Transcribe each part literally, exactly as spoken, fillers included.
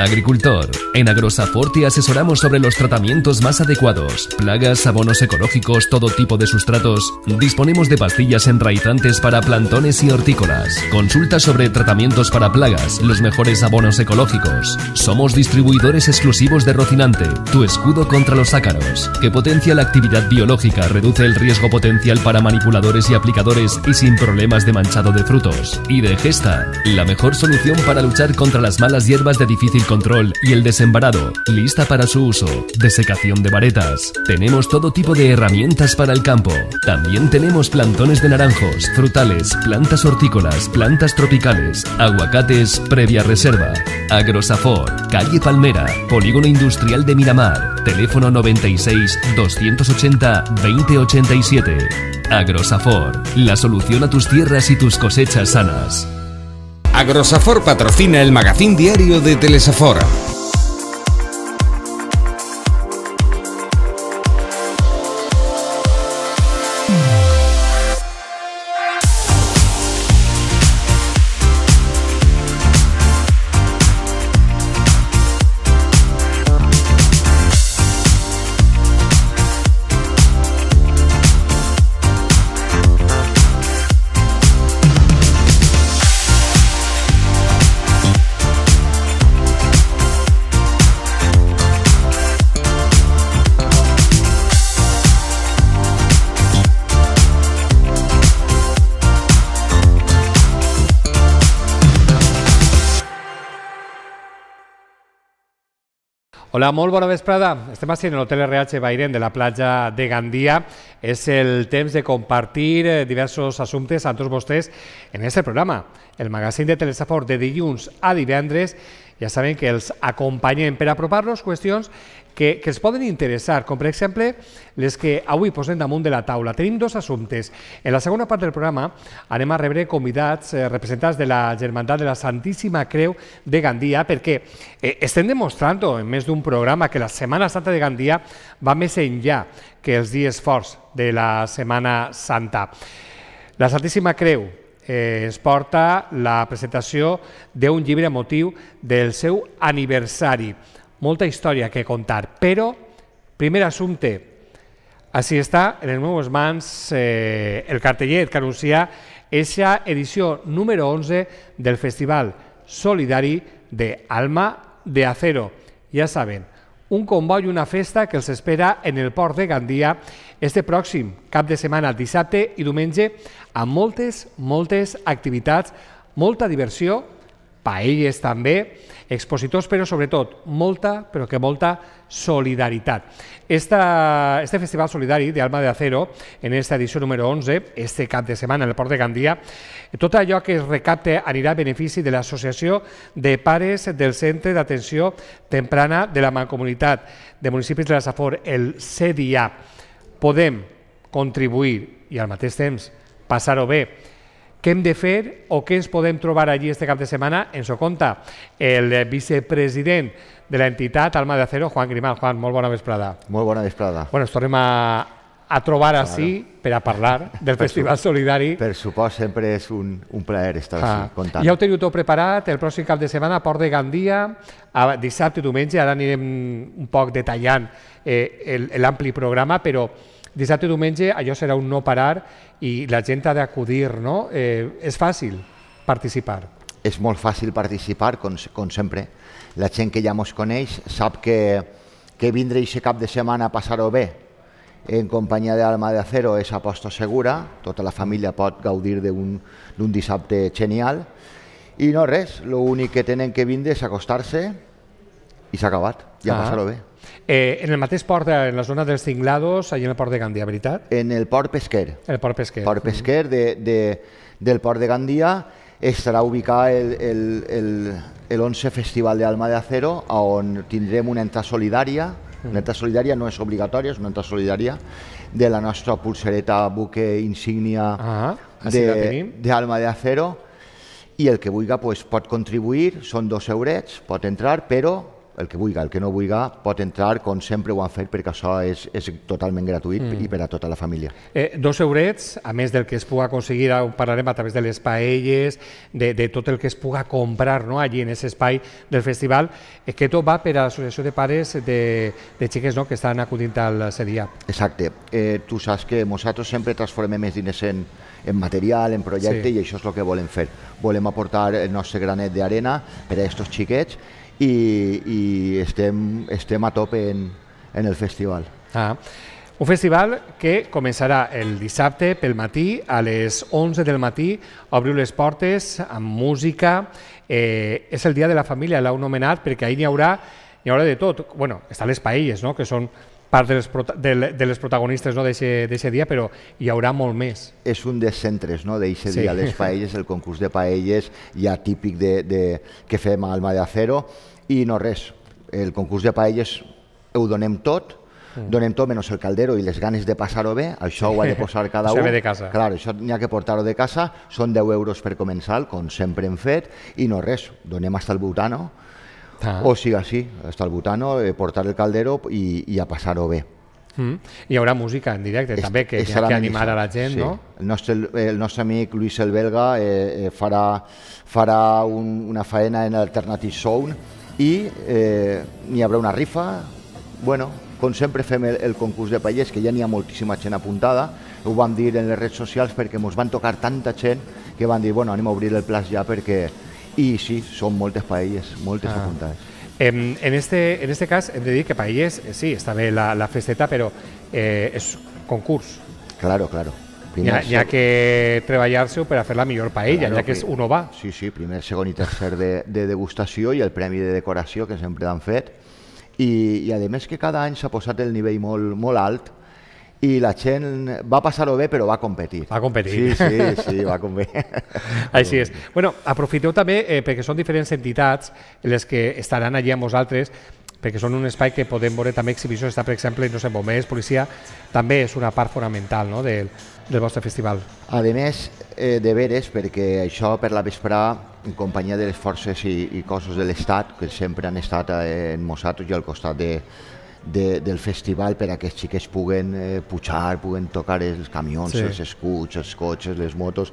Agricultor. En Agrosafort te asesoramos sobre los tratamientos más adecuados. Plagas, abonos ecológicos, todo tipo de sustratos. Disponemos de pastillas enraizantes para plantones y hortícolas. Consulta sobre tratamientos para plagas, los mejores abonos ecológicos. Somos distribuidores exclusivos de Rocinante, tu escudo contra los ácaros, que potencia la actividad biológica, reduce el riesgo potencial para manipuladores y aplicadores y sin problemas de manchado de frutos. Y de Gesta, la mejor solución para luchar contra las malas hierbas de difícil control y el desembarado, lista para su uso. Desecación de varetas. Tenemos todo tipo de herramientas para el campo. También tenemos plantones de naranjos, frutales, plantas hortícolas, plantas tropicales, aguacates previa reserva. Agrosafort, calle Palmera, Polígono Industrial de Miramar. Teléfono noventa y seis, doscientos ochenta, veinte ochenta y siete. Agrosafort, la solución a tus tierras y tus cosechas sanas. Agrosafort patrocina el magazín diario de Telesafor. Hola, molt bona vesprada. Estem així en l'Hotel R H Bairén de la platja de Gandia. És el temps de compartir diversos assumptes amb tots vostès en aquest programa, el magazín de Telesafor de dilluns a divendres. Ja saben que els acompanyem per apropar-nos qüestions que, que els poden interessar, com per exemple les que avui posem damunt de la taula. Tenim dos assumptes. En la segona part del programa anem a rebre convidats eh, representants de la Germandat de la Santíssima Creu de Gandia, perquè eh, estem demostrant en més d'un programa que la Setmana Santa de Gandia va més enllà que els dies forts de la Setmana Santa. La Santíssima Creu Eh, es porta la presentació d'un llibre a motiu del seu aniversari. Molta història que contar, però, primer assumpte, així està en les meves mans eh, el cartellet que anuncia aquesta edició número onze del Festival Solidari de Alma de Acero. Ja saben, un comboi i una festa que els espera en el port de Gandia este pròxim cap de setmana, dissabte i diumenge, amb moltes, moltes activitats, molta diversió, paelles també, expositors, però sobretot molta, però que molta solidaritat. Esta, este Festival Solidari de Alma de Acero, en esta edició número onze, este cap de setmana en el port de Gandia, tot allò que es recapte anirà a benefici de l'Associació de Pares del Centre d'Atenció Temprana de la Mancomunitat de Municipis de la Safor, el C D I A. Podem contribuir i al mateix temps passar-ho bé. Què hem de fer o què ens podem trobar allí este cap de setmana? Ens ho conta el vicepresident de l'entitat Alma de Acero, Juan Grimal. Juan, molt bona vesprada. Molt bona vesprada. Bueno, ens tornem a, a trobar claro. Així per a parlar del Festival Solidari. Per supost, sempre és un, un plaer estar ah. així contant. Ja ho teniu tot preparat, el pròxim cap de setmana, Port de Gandia, a dissabte i diumenge, ara anirem un poc detallant eh, l'ampli programa, però dissabte i diumenge allò serà un no parar i la gent ha d'acudir, no? Eh, és fàcil participar. És molt fàcil participar, com, com sempre. La gent que ja ens coneix sap que, que vindre aquest cap de setmana a passar-ho bé en companyia d'Alma de Acero és aposta segura, tota la família pot gaudir d'un dissabte genial i no res, l'únic que tenen que vindre és acostar-se i s'ha acabat, ja ah. passar-ho bé. Eh, en el mateix port, en la zona dels Cinglados, allà en el port de Gandia, veritat? En el port pesquer. El port pesquer. Port pesquer de, de, del port de Gandia estarà ubicat el, el, el, el once Festival de Alma de Acero, on tindrem una entrada solidària. Una entrada solidària no és obligatòria, és una entrada solidària de la nostra pulsereta buque insígnia ah, d'Alma de, de Acero, i el que vulgui pues, pot contribuir, són dos eurets, pot entrar, però el que vulgui, el que no vulgui pot entrar, com sempre ho han fet, perquè això és, és totalment gratuït mm. i per a tota la família. Eh, dos eurets, a més del que es pugui aconseguir, ho parlarem a través de les paelles, de, de tot el que es pugui comprar, no?, allí en aquest espai del festival, eh, que tot va per a l'associació de pares de, de xiques, no?, que estan acudint al C D I A. Exacte. Eh, tu saps que nosaltres sempre transformem els diners en, en material, en projecte, sí. I això és el que volem fer. Volem aportar el nostre granet d'arena per a aquests xiquets i, i estem, estem a tope en, en el festival. Ah. Un festival que començarà el dissabte pel matí, a les onze del matí, obriu les portes amb música. Eh, és el dia de la família, l'heu nomenat, perquè ahir n'hi haurà, n'hi haurà de tot. Bueno, estan les paelles, no?, que són part de les, de, de les protagonistes, no?, d'aquest dia, però hi haurà molt més. És un dels centres, no?, d'aquest sí. dia, les paelles, el concurs de paelles ja típic de, de, que fem a Alma de Acero, i no res, el concurs de paelles ho donem tot, mm. donem tot menys el caldero i les ganes de passar-ho bé, això ho ha de posar cada un. Això ve de casa. Clar, això n'hi ha que portar-ho de casa, són deu euros per començar, com sempre hem fet, i no res, donem hasta el butano, ah. o sigui així, hasta el butano, eh, portar el caldero i, i a passar-ho bé. Mm. Hi haurà música en directe es, també, que, que animar a la gent, sí. no? El nostre, el nostre amic Luis el Belga eh, eh, farà, farà un, una faena en Alternative Sound i eh, n'hi haurà una rifa. Bueno, com sempre fem el, el concurs de paelles, que ja n'hi ha moltíssima gent apuntada, ho vam dir en les redes socials perquè ens van tocar tanta gent que van dir, bueno, anem a obrir el plaç ja perquè... I sí, són moltes paelles, moltes ah. apuntades. En, en, este, en este cas hem de dir que paelles, eh, sí, està bé la, la festeta, però eh, és concurs. Claro, claro. N'hi ha, ha que treballar-se per a fer la millor paella, claro, ja que és uno va. Sí, sí, primer, segon i tercer de, de degustació i el premi de decoració que sempre han fet. I, i a més que cada any s'ha posat el nivell molt, molt alt i la gent va passar-ho bé, però va competir. Va competir. Sí, sí, sí, va competir. Així és. Bueno, aprofiteu també, eh, perquè són diferents entitats les que estaran allí amb vosaltres, perquè són un espai que podem veure també exhibicions. Està, per exemple, no sé, bombers, policia, també és una part fonamental, no?, del, del vostre festival. A més, eh, de veres, perquè això per la vesprà, en companyia de les forces i, i cossos de l'Estat, que sempre han estat eh, en nosaltres i al costat de, de, del festival per a que els xiquets puguen eh, pujar, puguen tocar els camions, sí. els escuts, els cotxes, les motos,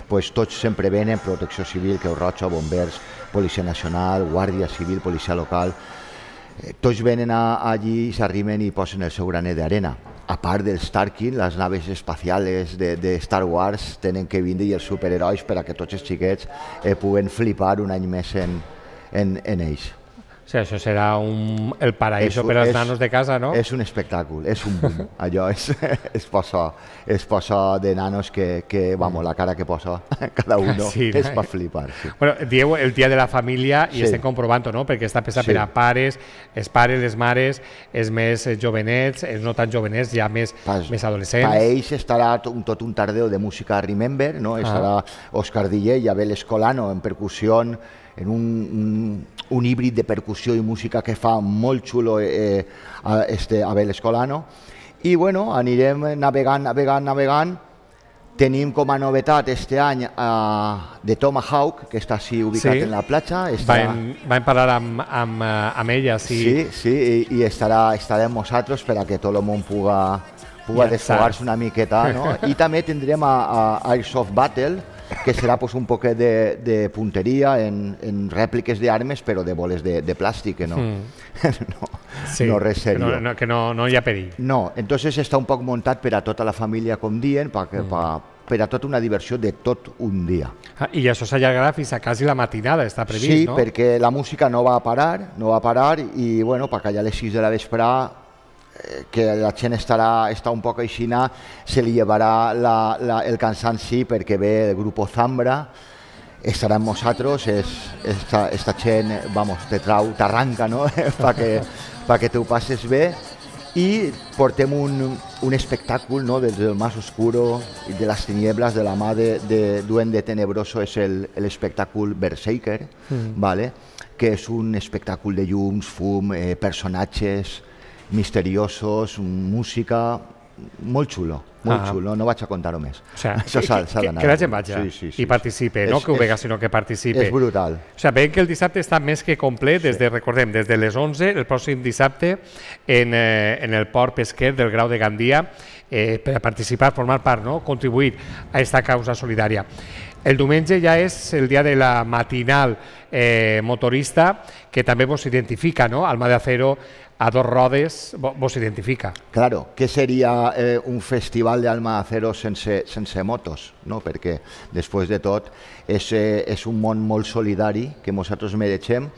pues tots sempre venen, Protecció Civil, Creu Roja, Bombers, Policia Nacional, Guàrdia Civil, Policia Local, eh, tots venen a, allí i s'arrimen i posen el seu granet d'arena. A part dels Tarkin, les naves espacials de, de Star Wars tenen que vindre i els superherois per a que tots els xiquets eh, puguen flipar un any més en, en, en ells. O sigui, això serà un, el paraíso per als nanos de casa, no? És un espectacle, és un boom. Allò és, és, posa, és posa de nanos que, que, vamos, la cara que posa cada uno sí, és per flipar. Sí. Bueno, dieu el dia de la família i sí. estem comprovant, no?, perquè està pensat sí. per a pares, els pares, les mares, els més jovenets, els no tan jovenets, ja més, Pas, més adolescents. Per ells estarà tot, tot un tardeu de música Remember, no? Estarà ah. Òscar Diller i Abel Escolano en percussió, en un, un, un híbrid de percussió i música que fa molt xulo eh, este Abel Escolano. I bueno, anirem navegant, navegant, navegant. Tenim com a novetat este any uh, de Tomahawk, que està així ubicat sí. en la platja. Estarà... Vam, vam parlar amb, amb, amb ella. Sí, sí, sí i, i estarà, estarà amb nosaltres per a que tot el món puga, puga desfogar-se una miqueta. No? I també tindrem a, a Airsoft Battle, que serà pues, un poquet de, de punteria en, en rèpliques d'armes, però de boles de, de plàstic, que no, mm. no, sí, no res seriós. Que, no, no, que no, no hi ha perill. No, entonces està un poc muntat per a tota la família, com dient, per, mm. per, per a tota una diversió de tot un dia. Ah, I això s'allargarà fins a quasi la matinada, està previst, sí, no? Sí, perquè la música no va a parar, no va a parar, i bueno, perquè allà a les sis de la vesprà que la gent estarà està un poc aixina, se li llevarà la, la, el cansanci perquè ve el grup Zambra, estarà amb nosaltres, és, esta, esta gent, vamos, te trau, t'arranca, no?, perquè pa que t'ho passes bé, i portem un, un espectacle, no?, des del más oscuro i de les tinieblas de la mà de, de Duende Tenebroso, és l'espectacle Berserker, mm. vale? Que és un espectacle de llums, fum, eh, personatges misteriosos, música, molt xulo, molt Ah. xulo, no vaig a contar-ho més. O sea, Això s'ha que, d'anar. que la gent vagi Sí, sí, sí, i participe, sí. no És- que ho vega, és- sinó que participe. És brutal. O sigui, veiem que el dissabte està més que complet, des de, recordem, des de les onze, el pròxim dissabte, en, eh, en el port pesquer del Grau de Gandia, eh, per a participar, formar part, no? Contribuir a aquesta causa solidària. El diumenge ja és el dia de la matinal eh, motorista, que també vos identifica, no? Alma de Acero a dos rodes vo- vos identifica. Claro, què seria eh, un festival d'Alma de Acero sense, sense motos? No? Perquè, després de tot, és, eh, és un món molt solidari que nosaltres mereixem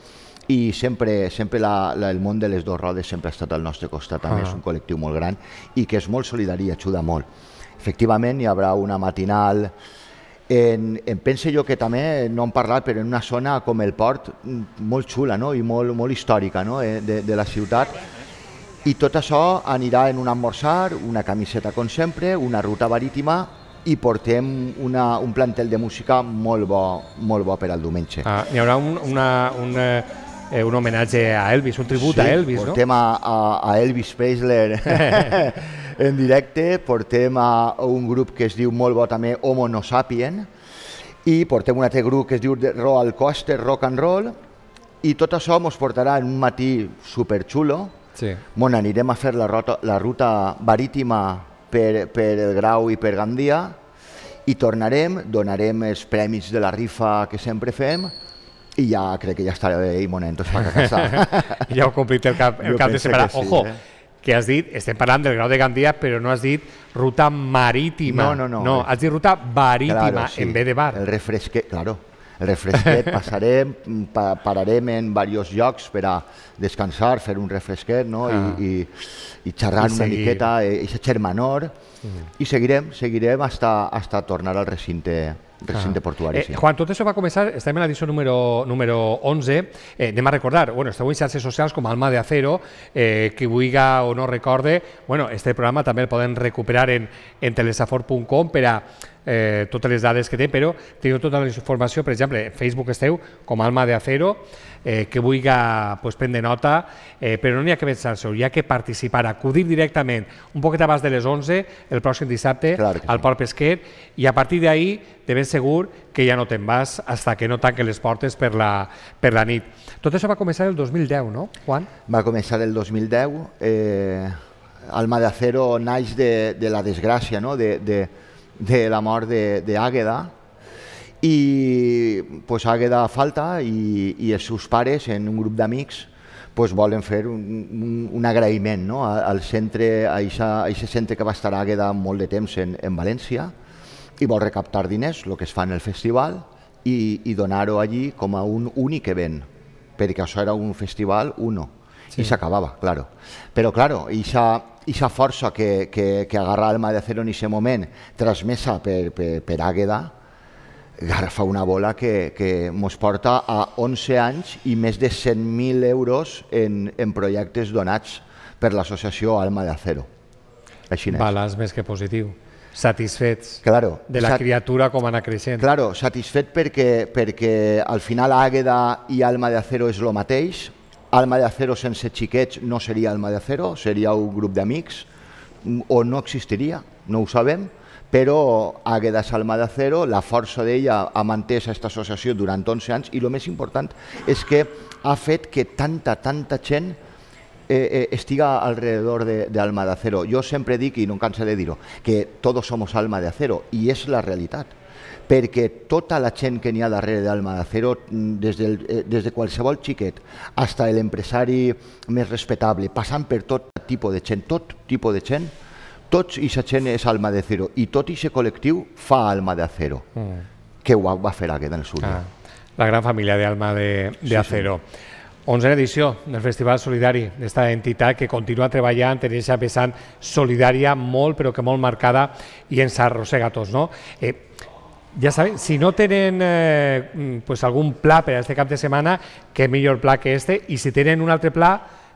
i sempre, sempre la, la, el món de les dues rodes sempre ha estat al nostre costat. També Ah. és un col·lectiu molt gran i que és molt solidari i ajuda molt. Efectivament, hi haurà una matinal. En, en pense jo que també no hem parlat, però en una zona com el port, mm, molt xula, no? I molt, molt històrica, no? eh, de, de la ciutat. I tot això anirà en un esmorzar, una camiseta com sempre, una ruta marítima i portem una, un plantel de música molt bo, molt bo per al diumenge. Ah, hi haurà un, una, un, eh, un homenatge a Elvis, un tribut a Elvis, no? Portem a, a, a Elvis Presley en directe, portem a un grup que es diu molt bo també Homo No Sapien i portem un altre grup que es diu Roll Coaster Rock and Roll i tot això ens portarà en un matí superxulo. Sí. Bueno, anirem a fer la ruta, la ruta marítima per, per el Grau i per Gandia i tornarem, donarem els premis de la rifa que sempre fem i ja crec que ja estarà bé i monentos per a casa. Ja heu complit el cap, el Jo cap de penso setmana. que sí, Ojo, eh? que has dit, estem parlant del Grau de Gandia, però no has dit ruta marítima. No, no, no. No, has dit ruta marítima, Claro, sí. en vez de bar. El refresquet, claro. El refresquet, passarem, pa, pararem en diversos llocs per a descansar, fer un refresquet, no? Ah. I, i, i xerrar I una seguir. miqueta, i xermanor, mm. i seguirem, seguirem hasta, hasta tornar al recinte, recinte Ah. portuari. Eh, sí. Juan, tot això va començar, estem en l'edició número, número onze, eh, anem a recordar, bueno, esteu en xarxes socials com Alma de Acero, eh, qui vulga o no recorde, bueno, este programa també el podem recuperar en, en telesafor punt com per a eh, totes les dades que té, però teniu tota la informació, per exemple, en Facebook esteu com Alma de Acero, eh, que vulga pues, prendre nota, eh, però no n'hi ha que pensar-se, hi ha que participar, acudir directament un poquet abans de les onze, el pròxim dissabte, Clar que al sí. Port Pesquer, i a partir d'ahí de ben segur que ja no te'n vas hasta que no tanquen les portes per la, per la nit. Tot això va començar el dos mil deu, no, Juan? Va començar el dos mil deu, eh, Alma de Acero naix de, de la desgràcia, no? de, de, de la mort d'Àgueda, i pues, Àgueda falta i, i els seus pares, en un grup d'amics, pues, volen fer un, un, un agraïment, no? al centre, a aquest centre que va estar Àgueda molt de temps en, en València, i vol recaptar diners, el que es fa en el festival, i, i donar-ho allí com a un únic event, perquè això era un festival uno, sí. I s'acabava, claro. Però, claro, aquesta força que, que, que agarra Alma de Acero en aquest moment, transmesa per, per, per Àgueda, agafa una bola que, que ens porta a onze anys i més de cent mil euros en, en projectes donats per l'associació Alma de Acero. Així n'és. Balanç més que positiu. Satisfets Claro, de la sat- criatura com anar creixent. Claro, satisfet perquè, perquè al final Àgueda i Alma de Acero és el mateix. Alma de Acero sense xiquets no seria Alma de Acero, seria un grup d'amics, o no existiria, no ho sabem, però Àgueda és Alma de Acero, la força d'ella ha mantès aquesta associació durant onze anys i el més important és que ha fet que tanta, tanta gent Eh, eh, estiga alrededor de, de Alma de Acero. Jo sempre dic, i no em canso de dir-ho, que todos somos Alma de Acero, i és la realitat, perquè tota la gent que n'hi ha darrere d'Alma de Acero, des, del, eh, des de qualsevol xiquet fins a l'empresari més respectable, passant per tot tipus de gent, tot tipus de gent, tots i la gent és Alma de Acero, i tot i aquest col·lectiu fa Alma de Acero, mm. que ho va fer Àgueda en el seu dia. Ah, la gran família d'Alma de, de Sí, Acero. onzena edició del Festival Solidari, d'esta entitat que continua treballant en aquesta vessant solidària molt, però que molt marcada i ens arrossega a tots, no? Eh, ja sabem, si no tenen eh, pues algun pla per a este cap de setmana, què millor pla que este, i si tenen un altre pla,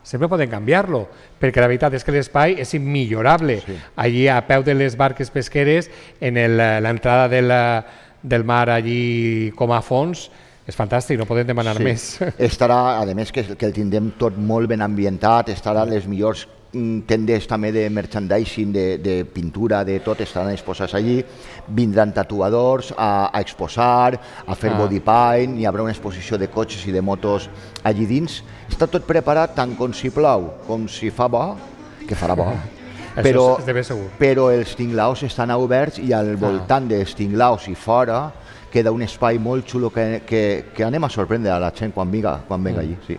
sempre poden canviar-lo, perquè la veritat és que l'espai és immillorable. Sí. Allí a peu de les barques pesqueres, en l'entrada del, del mar allí com a fons, és fantàstic, no podem demanar Sí. més. Estarà, a més, que, que el tindrem tot molt ben ambientat, estarà les millors tenders també de merchandising, de, de pintura, de tot, estaran exposats allí. Vindran tatuadors a, a exposar, a fer ah. body paint, hi haurà una exposició de cotxes i de motos allí dins. Està tot preparat tant com si plau, com si fa bo, que farà bo. Però, però els tinglaus estan oberts i al voltant ah. dels tinglaus i fora queda un espai molt xulo que, que, que anem a sorprendre a la gent quan vinga, quan venga allí. Sí.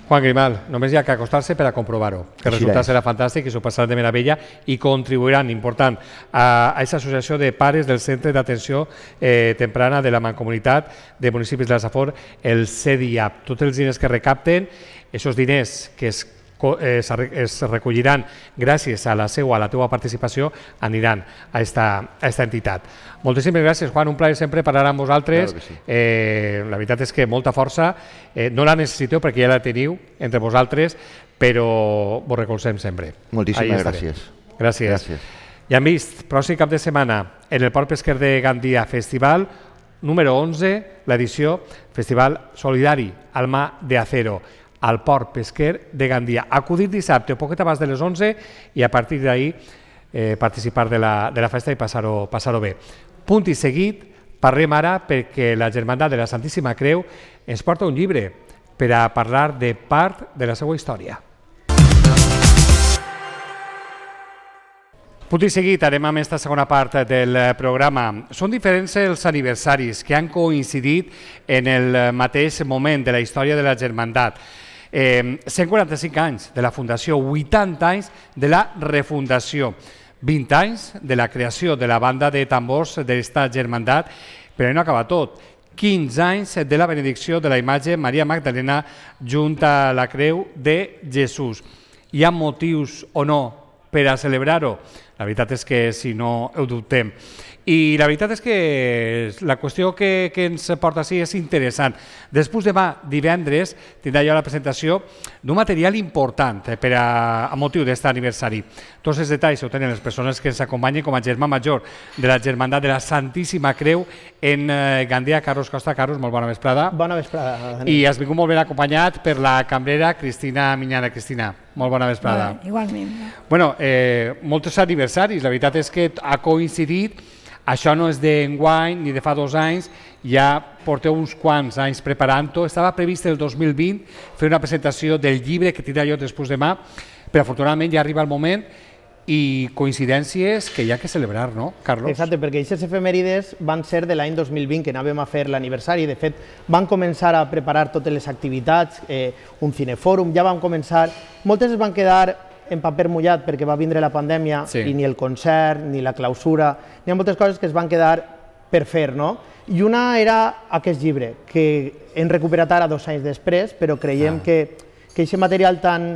Juan Grimal, només hi ha que acostar-se per a comprovar-ho, que el resultat serà fantàstic i s'ho passaran de meravella i contribuiran, important, a aquesta associació de pares del Centre d'Atenció eh, Temprana de la Mancomunitat de Municipis de la Safor, el C D I A P. Tots els diners que recapten, aquests diners que es Es, es recolliran gràcies a la seva, a la teva participació, aniran a esta, a esta entitat. Moltíssimes gràcies, Juan, un plaer sempre parlar amb vosaltres. Claro que sí. eh, la veritat és que molta força, eh, no la necessiteu perquè ja la teniu entre vosaltres, però vos recolzem sempre. Moltíssimes gràcies. Gràcies. gràcies. Ja hem vist, pròxim cap de setmana, en el Port Pesquer de Gandia, festival número onze, l'edició Festival Solidari, Alma de Acero, al Port Pesquer de Gandia. Acudir dissabte o poquet abans de les onze i a partir d'ahí eh, participar de la, de la festa i passar-ho passar-ho bé. Punt i seguit, parlem ara perquè la Germandat de la Santíssima Creu ens porta un llibre per a parlar de part de la seva història. Punt i seguit, anem amb aquesta segona part del programa. Són diferents els aniversaris que han coincidit en el mateix moment de la història de la Germandat. Eh, cent quaranta-cinc anys de la fundació, vuitanta anys de la refundació, vint anys de la creació de la banda de tambors d'esta Germandat, però no acaba tot. quinze anys de la benedicció de la imatge Maria Magdalena junt a la creu de Jesús. Hi ha motius o no per a celebrar-ho? La veritat és que si no ho dubtem. I la veritat és que la qüestió que, que ens porta així és interessant. Després demà, divendres, tindrà jo la presentació d'un material important per a, a motiu d'aquest aniversari. Tots els detalls ho tenen les persones que ens acompanyen com a germà major de la Germandat de la Santíssima Creu en eh, Gandia. Carlos Costa. Carlos, molt bona vesprada. Bona vesprada. I has vingut molt ben acompanyat per la cambrera Cristina Miñana. Cristina, molt bona vesprada. Vale, igualment. Bueno, eh, molts aniversaris. La veritat és que ha coincidit. Això no és d'enguany ni de fa dos anys, ja porteu uns quants anys preparant-ho. Estava previst el dos mil vint fer una presentació del llibre que tindrà jo després demà, però afortunadament ja arriba el moment i coincidències que hi ha que celebrar, no, Carlos? Exacte, perquè aquestes efemèrides van ser de l'any dos mil vint, que anàvem a fer l'aniversari. De fet, van començar a preparar totes les activitats, eh, un cinefòrum, ja van començar... Moltes es van quedar en paper mullat perquè va vindre la pandèmia sí. i ni el concert, ni la clausura, n'hi ha moltes coses que es van quedar per fer, no? I una era aquest llibre, que hem recuperat ara dos anys després, però creiem ah. que aquest material tan,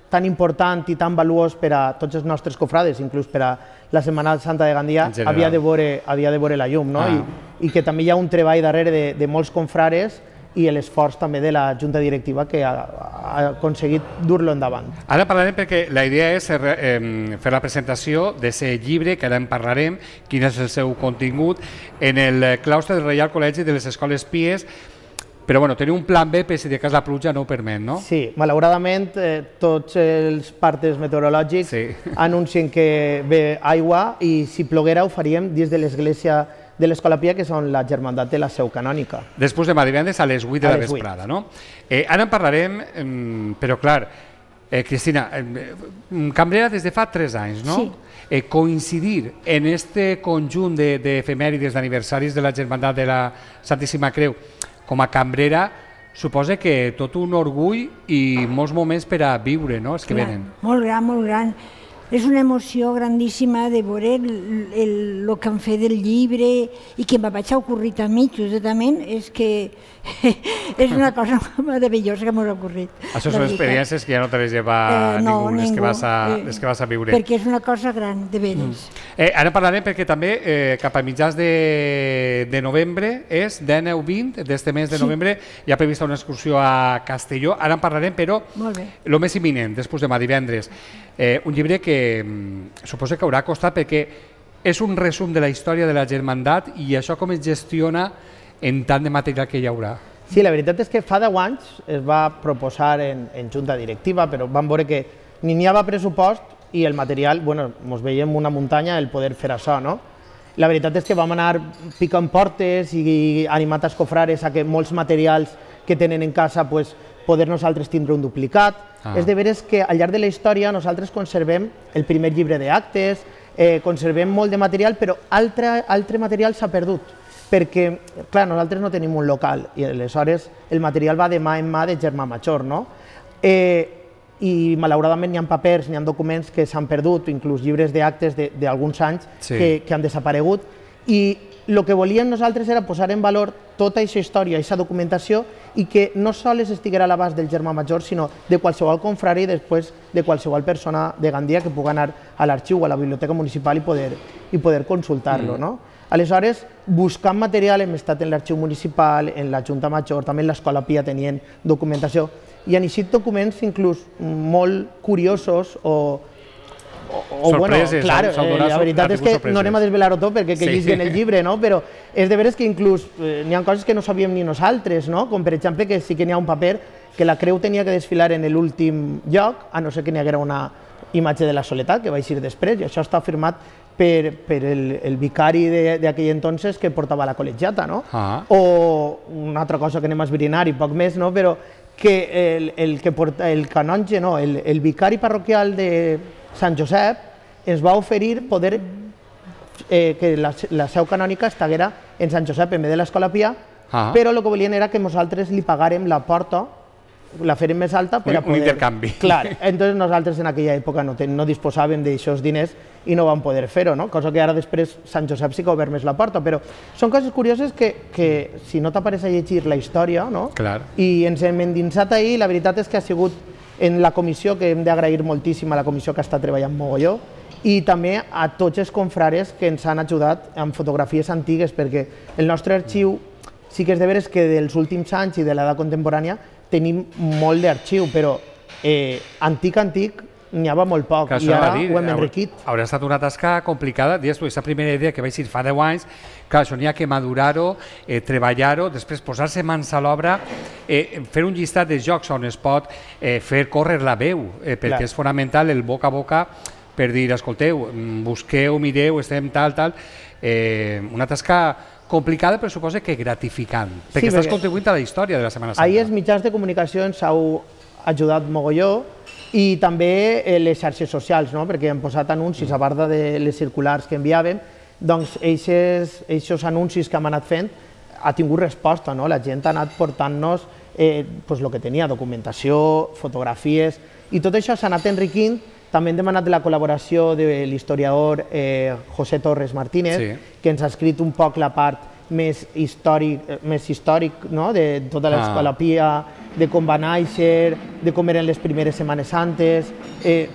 tan important i tan valuós per a tots els nostres cofrades, inclús per a la Setmana Santa de Gandia, havia de veure, havia de veure la llum, no? Ah. I, I que també hi ha un treball darrere de, de molts confrares i l'esforç també de la Junta Directiva que ha, ha aconseguit dur-lo endavant. Ara parlarem perquè la idea és eh, fer la presentació d'aquest llibre, que ara en parlarem, quin és el seu contingut, en el claustre del Reial Col·legi de les Escoles Pies, però bueno, teniu un plan B per si de cas la pluja no ho permet, no? Sí, malauradament eh, tots els partes meteorològics sí. anuncien que ve aigua i si ploguera ho faríem dins de l'església de l'Escola Pia, que són la Germandat de la Seu Canònica. Després demà divendres a les vuit de la vesprada, no? Eh, ara en parlarem, eh, però clar, eh, Cristina, eh, cambrera des de fa tres anys, no? Sí. Eh, coincidir en este conjunt d'efemèrides d'aniversaris de la Germandat de la Santíssima Creu com a cambrera suposa que tot un orgull i molts moments per a viure, no?, els que clar, venen. Molt gran, molt gran. És una emoció grandíssima de veure el, el, el que han fet del llibre i que me vaig a ocorrir a mi, justament, és que és una cosa meravellosa que m'ha ocorrit. Això són experiències que ja no te les lleva eh, no, ningú, les, ningú. Que vas a, eh, les que vas a viure. Perquè és una cosa gran, de veres. Mm. Eh, ara parlarem perquè també eh, cap a mitjans de, de novembre, és dinou vint d'este mes de sí. novembre, hi ha prevista una excursió a Castelló. Ara en parlarem, però el més imminent, després demà divendres. Eh, un llibre que mm, suposo que haurà costat perquè és un resum de la història de la Germandat i això com es gestiona en tant de material que hi haurà. Sí, la veritat és que fa deu anys es va proposar en, en junta directiva, però vam veure que ni n'hi havia pressupost i el material, bueno, ens veiem una muntanya el poder fer això, no? La veritat és que vam anar picant portes i animant els cofrares a que molts materials que tenen en casa pues, poder nosaltres tindre un duplicat. Ah. És de veres que al llarg de la història nosaltres conservem el primer llibre d'actes, eh, conservem molt de material, però altre, altre material s'ha perdut, perquè, clar, nosaltres no tenim un local i aleshores el material va de mà en mà de germà major, no? Eh, i malauradament n'hi ha papers, n'hi ha documents que s'han perdut, inclús llibres d'actes d'alguns anys sí. que, que han desaparegut, i el que volíem nosaltres era posar en valor tota aquesta història, aquesta documentació, i que no sols estiguera a l'abast del germà major, sinó de qualsevol confrari i després de qualsevol persona de Gandia que pugui anar a l'arxiu o a la biblioteca municipal i poder, i poder consultar-lo. Mm. No? Aleshores, buscant material hem estat en l'arxiu municipal, en la Junta Major, també en l'Escola Pia tenien documentació, i han eixit documents inclús molt curiosos o O, sorpreses, bueno, clar, eh, la veritat és que no anem a desvelar-ho tot perquè que sí. llisguen el llibre, no? Però és de veres que inclús eh, n'hi ha coses que no sabíem ni nosaltres, no? Com per exemple que sí que n'hi ha un paper que la creu tenia que desfilar en l'últim lloc, a no ser que n'hi haguera una imatge de la Soledat, que va eixir després, i això està firmat per, per el, el vicari d'aquell entonces que portava la col·legiata, no? Ah. O una altra cosa que anem a esbrinar i poc més, no? Però que el, el, que porta, el canonge, no, el, el vicari parroquial de Sant Josep ens va oferir poder eh, que la, la seu canònica estiguera en Sant Josep en vez de l'Escola Pia, ah. però el que volien era que nosaltres li pagàrem la porta, la fèrem més alta per un, a poder... Un intercanvi. Clar, entonces nosaltres en aquella època no, ten, no disposàvem d'aixòs diners i no vam poder fer-ho, no? Cosa que ara després Sant Josep sí que ha obert més la porta, però són coses curioses que, que si no t'apareix a llegir la història, no? Clar. I ens hem endinsat ahir, la veritat és que ha sigut en la comissió, que hem d'agrair moltíssim a la comissió que està treballant mogolló, i també a tots els confrares que ens han ajudat amb fotografies antigues, perquè el nostre arxiu sí que és de veres que dels últims anys i de l'edat contemporània tenim molt d'arxiu, però eh, antic, antic, n'hi havia molt poc, i ara dir, ho hem enriquit. Haurà estat una tasca complicada, dius tu, aquesta primera idea que vaig dir fa deu anys, clar, això n'hi ha que madurar-ho, eh, treballar-ho, després posar-se mans a l'obra, eh, fer un llistat de jocs on es pot eh, fer córrer la veu, eh, perquè clar. És fonamental el boca a boca per dir, escolteu, busqueu, mireu, estem tal, tal, eh, una tasca complicada, però suposa que gratificant, perquè sí, estàs perquè contribuint a la història de la Setmana Santa. Ahir els mitjans de comunicació ens heu ajudat mogolló, i també les xarxes socials, no? Perquè hem posat anuncis a part de les circulars que enviàvem, doncs aquests anuncis que hem anat fent ha tingut resposta, no? La gent ha anat portant-nos eh, pues, el que tenia, documentació, fotografies, i tot això s'ha anat enriquint. També hem demanat la col·laboració de l'historiador eh, José Torres Martínez, sí. que ens ha escrit un poc la part més històric, més històric no? De tota l'Escola Pia, de com va néixer, de com eren les primeres Setmanes Santes. Eh,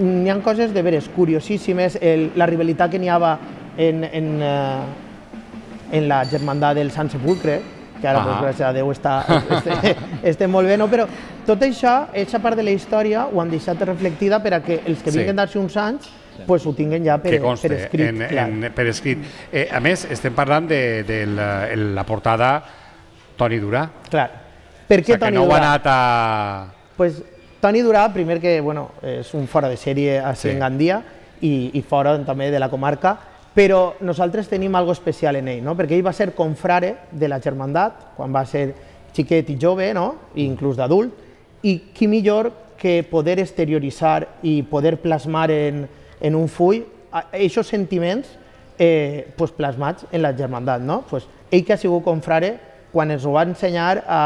n'hi ha coses de veres curiosíssimes, el, la rivalitat que n'hi havia en, en, eh, en la germandat del Sant Sepulcre, que ara, pues, gràcies a Déu, està, este, este molt bé, no? Però tot això, aquesta part de la història, ho han deixat reflectida per a que els que vinguen d'aquí uns anys pues ho tinguen ja per, conste, per escrit. En, en, per escrit. Eh, a més, estem parlant de, de la, la portada Toni Durà. Clar. Per què o sigui, Toni no Durà? No ha anat a... Pues, Toni Durà, primer que bueno, és un fora de sèrie a sí. en Gandia i, i fora també de la comarca, però nosaltres tenim algo especial en ell, no? Perquè ell va ser confrare de la germandat, quan va ser xiquet i jove, no? I inclús d'adult, i qui millor que poder exterioritzar i poder plasmar en, en un full aquests sentiments eh, pues plasmats en la germandat, no? Pues ell que ha sigut confrare, quan ens ho va ensenyar a,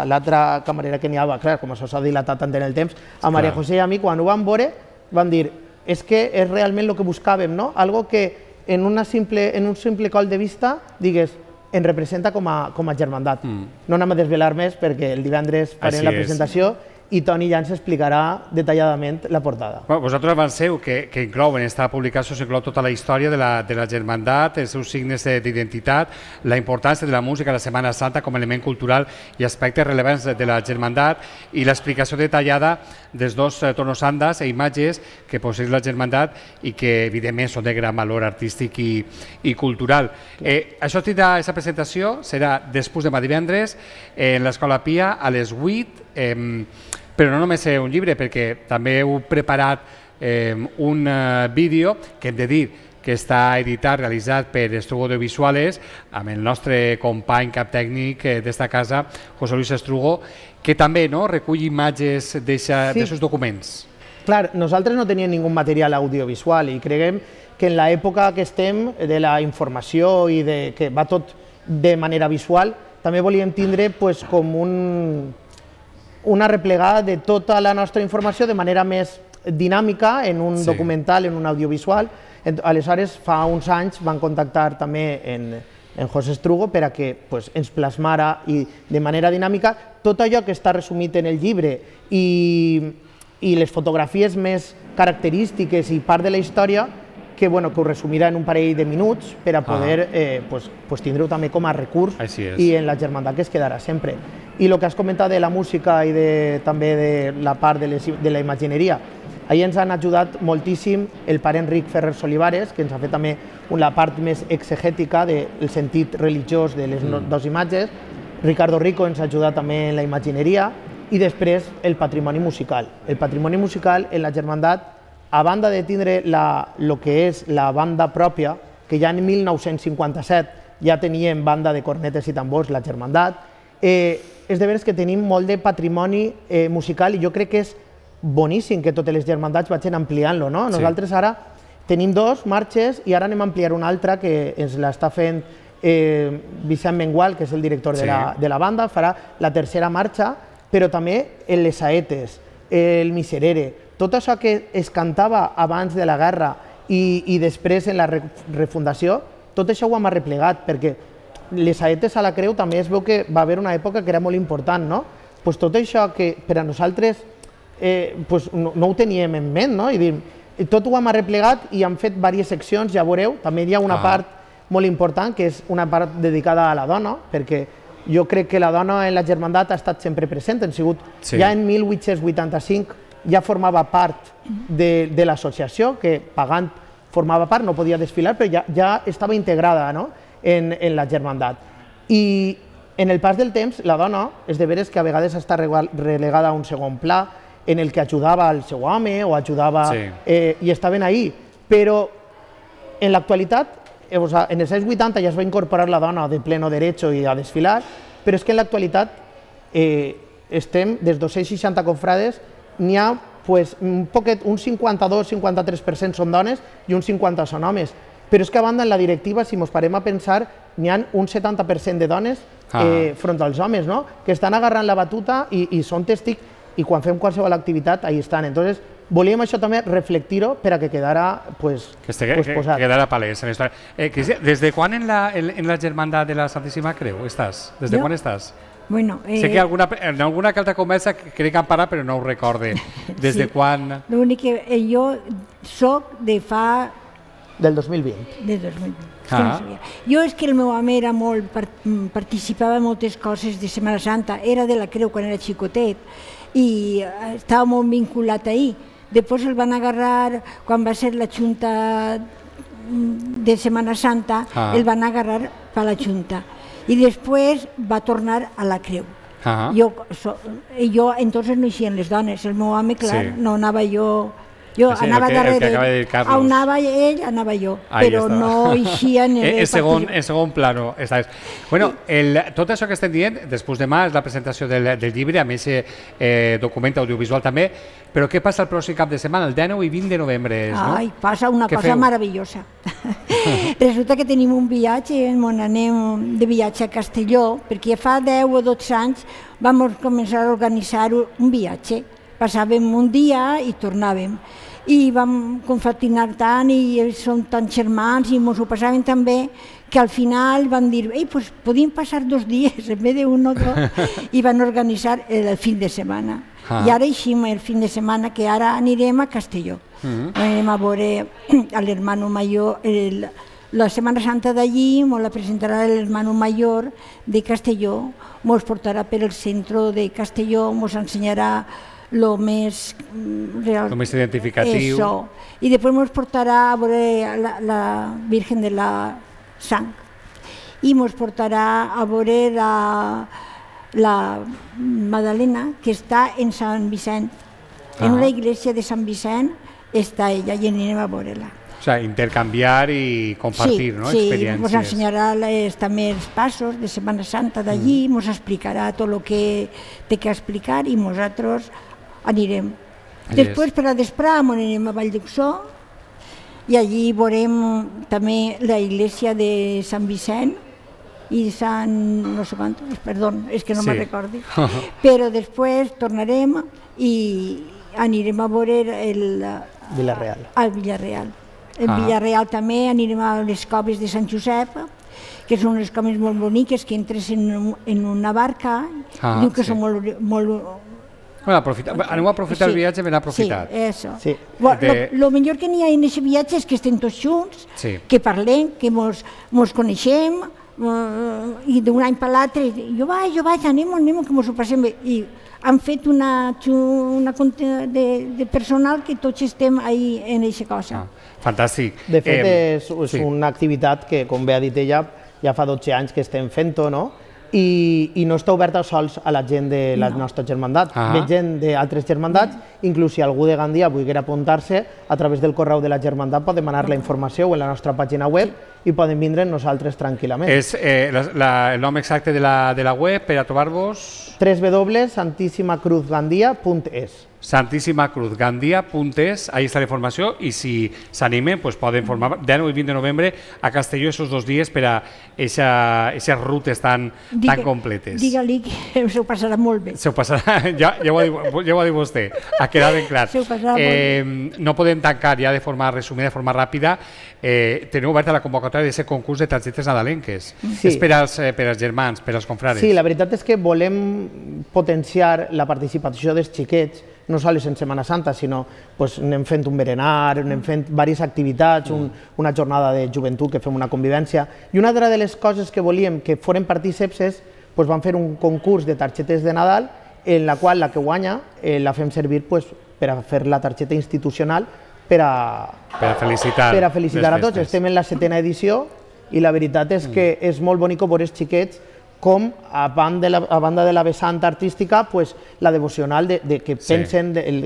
a l'altra camarera que n'hi havia, clar, com això s'ha dilatat tant en el temps, a Maria José i a mi, quan ho vam veure, vam dir, és que és realment el que buscàvem, no? Algo que en, una simple, en un simple coll de vista, digues, en representa com a, com a germandat. Mm. No anem a desvelar més perquè el divendres farem la presentació i Toni ja ens explicarà detalladament la portada. Bueno, vosaltres avanceu que, que inclouen, en esta publicació s'inclou tota la història de la, de la germandat, els seus signes d'identitat, la importància de la música a la Setmana Santa com a element cultural i aspectes rellevants de la germandat i l'explicació detallada dels dos tonos andas e imatges que posseix la germandat i que evidentment són de gran valor artístic i, i cultural. Eh, això tindrà, aquesta presentació serà després demà divendres en l'Escola Pia a les vuit. Eh, però no només un llibre, perquè també heu preparat eh, un uh, vídeo que hem de dir que està editat, realitzat per Estrugo Audiovisuales, amb el nostre company cap tècnic d'esta casa, José Luis Estrugo, que també no, recull imatges d'aquests sí. documents. Clar, nosaltres no teníem ningú material audiovisual i creiem que en l'època que estem de la informació i de, que va tot de manera visual, també volíem tindre pues, com un, una replegada de tota la nostra informació de manera més dinàmica en un sí. documental, en un audiovisual. Aleshores, fa uns anys van contactar també en, en José Estrugo per a que pues, ens plasmara i de manera dinàmica tot allò que està resumit en el llibre i, i les fotografies més característiques i part de la història que, bueno, que ho resumirà en un parell de minuts per a poder ah. eh, pues, pues, tindre-ho també com a recurs i en la germandat que es quedarà sempre. I el que has comentat de la música i de, també de la part de, les, de la imagineria, ahir ens han ajudat moltíssim el pare Enric Ferrer Solivares, que ens ha fet també la part més exegètica del sentit religiós de les mm. dues imatges. Ricardo Rico ens ha ajudat també en la imagineria i després el patrimoni musical. El patrimoni musical en la germandat, a banda de tindre el que és la banda pròpia, que ja en mil nou-cents cinquanta-set ja teníem banda de cornetes i tambors, la germandat, eh, és de veres que tenim molt de patrimoni eh, musical i jo crec que és boníssim que totes les germandats vagin ampliant-lo, no? Nosaltres ara tenim dos marxes i ara anem a ampliar una altra que ens l'està fent eh, Vicent Mengual, que és el director de, la, de la banda, farà la tercera marxa, però també les saetes, el miserere, tot això que es cantava abans de la guerra i, i després en la refundació, tot això ho hem arreplegat, perquè les saetes a la creu també es veu que va haver una època que era molt important, no? Pues tot això que per a nosaltres Eh, pues no, no ho teníem en ment, no? I dir, tot ho hem arreplegat i hem fet diverses seccions, ja veureu, també hi ha una ah. part molt important, que és una part dedicada a la dona, perquè jo crec que la dona en la germandat ha estat sempre present, han sigut, sí. ja en mil vuit-cents vuitanta-cinc ja formava part de, de l'associació, que pagant formava part, no podia desfilar, però ja, ja estava integrada, no? en, en la germandat. I en el pas del temps, la dona, és de veres que a vegades està relegada a un segon pla, en el que ajudava al seu home o ajudava sí. eh, i estaven ahí, però en l'actualitat, eh, o sea, en els anys vuitanta ja es va incorporar la dona de pleno derecho i a desfilar, però és que en l'actualitat eh, estem, des dos cents seixanta confrades, n'hi ha pues, un poquet, un cinquanta-dos cinquanta-tres per cent són dones i un cinquanta per cent són homes, però és que a banda en la directiva, si ens parem a pensar, n'hi ha un setanta per cent de dones eh, ah. front als homes, no? que estan agarrant la batuta i, i són testics i quan fem qualsevol activitat, ahí estan. Entonces, volíem això també reflectir-ho per a que quedara pues, que estigui, pues, posat. Que quedara palès en la història. Eh, Cristina, des de quan en la, en, en la germandat de la Santíssima Creu estàs? Des de jo? quan estàs? Bueno, eh... sé que alguna, en alguna que altra conversa crec que han parat, però no ho recorde. Des sí. de quan... L'únic que eh, jo soc de fa... Del dos mil vint. Del dos mil vint. Ah. Jo és que el meu home era molt, participava en moltes coses de Setmana Santa, era de la Creu quan era xicotet, i estava molt vinculat ahir. Després el van agarrar, quan va ser la Junta de Setmana Santa, ah. el van agarrar per la Junta. I després va tornar a la Creu. Ah. Jo, so, jo, entonces no eixien les dones, el meu home, clar, sí. no anava jo... Jo sí, anava que, darrere, on anava ell, anava jo, ahí però està. No eixia en el... En segon, en segon plano. Estàs. Bueno, el, tot això que estem dient, després demà és la presentació del, del llibre, a més eh, document audiovisual també, però què passa el pròxim cap de setmana, el dinou i vint de novembre? No? Ai, passa una què cosa feu? Meravellosa. Resulta que tenim un viatge, on anem de viatge a Castelló, perquè fa deu o dotze anys vam començar a organitzar un viatge. Passàvem un dia i tornàvem. I vam confratinar tant i som tants germans i ens ho passàvem tan bé que al final van dir, ei, pues podíem passar dos dies en vez d'un o dos, i van organitzar el fin de setmana. Ah. I ara eixim el fin de setmana, que ara anirem a Castelló. Uh-huh. Anirem a veure a l'hermano mayor, el, la Setmana Santa d'allí, ens la presentarà l'hermano mayor de Castelló, ens portarà per el centre de Castelló, ens ensenyarà lo més real, lo més identificatiu. Eso. I després ens portarà a veure la, la Virgen de la Sang. I ens portarà a veure la, la Madalena, que està en Sant Vicent. En una iglesia de Sant Vicent està ella i anirem a veure-la. O sea, intercanviar i compartir, sí, no? Sí, Experiències. Ens ensenyarà les, també els passos de Setmana Santa d'allí, ens mm. explicarà tot el que té que explicar i nosaltres anirem. Yes. Després, per a desprar, anirem a Vall d'Uxó i allí veurem també la iglesia de Sant Vicent i Sant... no sé quant, perdó, és que no sí. me'n recordo. Però després tornarem i anirem a veure el... Villarreal. Al Villarreal. En ah. Villarreal també anirem a les coves de Sant Josep, que són unes coves molt boniques, que entres en, en una barca, ah, diu que sí. són molt... molt bueno, aprofita, aneu a aprofitar sí. el viatge ben aprofitat. Sí, eso. Sí. Bueno, de... lo, lo millor que n'hi ha en aquest viatge és que estem tots junts, sí. que parlem, que mos, mos coneixem, uh, i d'un any per l'altre, jo vaig, jo vaig, anem, anem, que mos ho passem bé. I han fet una, una compte de, de personal que tots estem ahí en aquesta cosa. Ah, fantàstic. De fet, eh, és, és sí. una activitat que, com bé ha dit ella, ja fa dotze anys que estem fent-ho, no? I, i no està oberta sols a la gent de la no. nostra germandat. Ah. Ve gent d'altres germandats, inclús si algú de Gandia volguera apuntar-se, a través del correu de la germandat pot demanar la informació o en la nostra pàgina web i poden vindre nosaltres tranquil·lament. És eh, la, la, el nom exacte de la, de la web per a trobar-vos? w w w punt santíssima cruz gandia punt es santíssima cruz gandia punt es, ahí està la informació i si s'animen pues poden formar deu i vint de novembre a Castelló esos dos dies per a aquestes rutes tan, Digue, tan completes. Digue-li que se ho passarà molt bé. Se ho passarà, ja, ja, ho ha dit, ja ho ha dit vostè, ha quedat ben clar. Se ho passarà eh, molt bé. No podem tancar ja de forma resumida, de forma ràpida. Eh, teniu oberta la convocatòria d'aquest concurs de targetes nadalenques. Sí. És per als, eh, per als germans, per als confrares. Sí, la veritat és que volem potenciar la participació dels xiquets, no sols en Setmana Santa, sinó pues, anem fent un berenar, anem fent diverses activitats, un, una jornada de joventut que fem una convivència. I una de les coses que volíem que foren partíceps és, pues, vam fer un concurs de targetes de Nadal en la qual la que guanya eh, la fem servir pues, per a fer la targeta institucional per a, per a felicitar, per a, felicitar a tots. Estem en la setena edició i la veritat és que és molt bonic veure els xiquets com, a banda de la, a banda de la vessant artística, pues, la devocional de, de que pensen sí. el,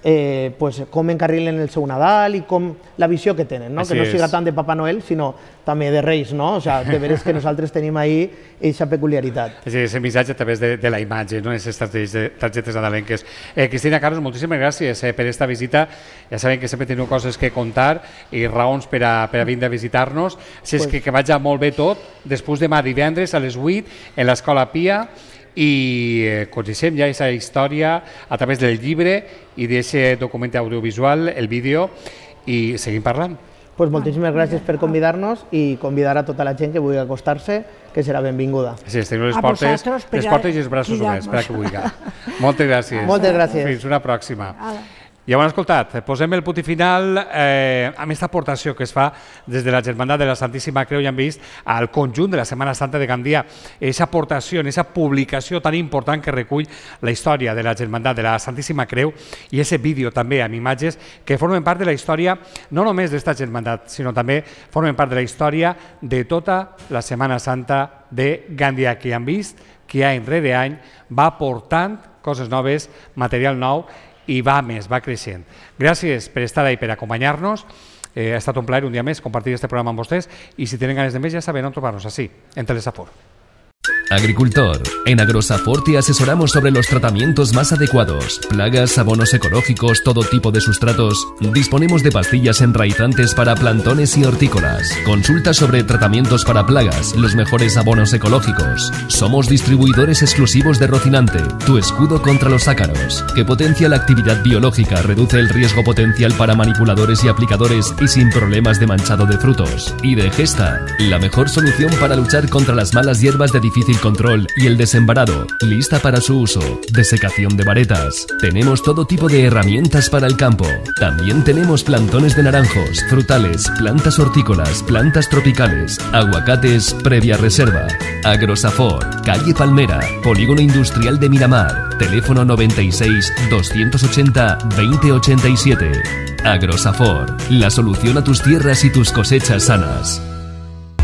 eh, pues, com encarrilen el seu Nadal i com la visió que tenen, no? Que no siga tant de Papa Noel, sinó també de Reis, no? O sea, de veres que nosaltres tenim ahí aquesta peculiaritat. És el missatge a través de, de la imatge, no? Aquestes targetes nadalenques. Eh, Cristina, Carlos, moltíssimes gràcies eh, per esta visita. Ja sabem que sempre teniu coses que contar i raons per a, per a vindre a visitar-nos. Si és pues... que, que vagi molt bé tot, després demà divendres a les vuit en l'Escola Pia, i eh, coneixem ja aquesta història a través del llibre i d'aquest document audiovisual, el vídeo, i seguim parlant. Pues moltíssimes gràcies per convidar-nos i convidar a tota la gent que vulgui acostar-se, que serà benvinguda. Sí, teniu les portes, les portes i els braços oberts, per a que vulgui. Moltes gràcies. Moltes gràcies. Fins una pròxima. Ja ho han escoltat, posem el punt final eh, amb aquesta aportació que es fa des de la Germandat de la Santíssima Creu i han vist al conjunt de la Setmana Santa de Gandia, aquesta aportació, aquesta publicació tan important que recull la història de la Germandat de la Santíssima Creu i aquest vídeo també amb imatges que formen part de la història no només d'esta Germandat, sinó també formen part de la història de tota la Setmana Santa de Gandia, que han vist que any rere any va portant coses noves, material nou, i va més, va creixent. Gràcies per estar ahí, per acompanyar-nos. Eh, ha estat un plaer un dia més compartir este programa amb vostès i si tenen ganes de més ja saben on trobar-nos, així, en Telesafor. Agricultor. En Agrosafor te asesoramos sobre los tratamientos más adecuados. Plagas, abonos ecológicos, todo tipo de sustratos. Disponemos de pastillas enraizantes para plantones y hortícolas. Consulta sobre tratamientos para plagas, los mejores abonos ecológicos. Somos distribuidores exclusivos de Rocinante, tu escudo contra los ácaros, que potencia la actividad biológica, reduce el riesgo potencial para manipuladores y aplicadores y sin problemas de manchado de frutos. Y de Gesta, la mejor solución para luchar contra las malas hierbas de difícil control y el desembarado, lista para su uso. Desecación de varetas. Tenemos todo tipo de herramientas para el campo. También tenemos plantones de naranjos, frutales, plantas hortícolas, plantas tropicales, aguacates previa reserva. Agrosafor, calle Palmera, Polígono Industrial de Miramar. Teléfono noventa y seis, doscientos ochenta, veinte ochenta y siete. Agrosafor, la solución a tus tierras y tus cosechas sanas.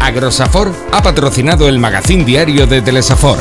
Agrosafor ha patrocinado el magazín diario de Telesafor.